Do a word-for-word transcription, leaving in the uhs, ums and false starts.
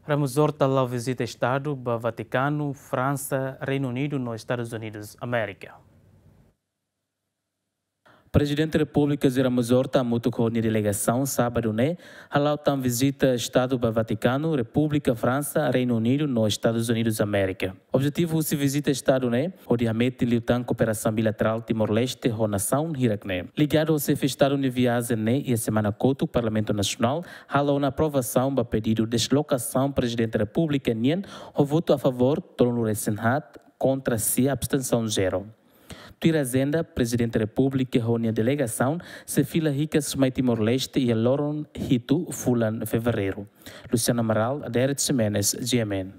Ramos Horta hala'o vizita Estadu ba Vatikanu, Fransa, Reinu Unidu no Estadus Unidus Amérika. Prezidente Repúblika José Ramos Horta hamutuk ho nia delegasaun sábadu ne'e hala'o tan vizita Estadu ba Vatikanu, Repúblika Fransa, Reinu Unidu no Estadus Unidus Amérika. Objetivu husi vizita Estadu ne'e hodi hametin liután kooperasaun bilaterál Timor-Leste ho nasaun hirak-ne'e. Ligadu ho xefe Estadu nia viajen ne'e, iha semana kotuk Parlamentu Nasionál halo ona aprovasaun ba pedidu deslokasaun Prezidente Repúblika nian, ho votu a favór tolunulu-resin-haat, kontra sia, abstensaun zero. Tuir ajenda, Prezidente Repúblika ho nia delegasaun sei fila hikas mai Timor-Leste iha loron hitu fulan Fevereiru. Luciano Amaral, Aderet Ximenes, G M N.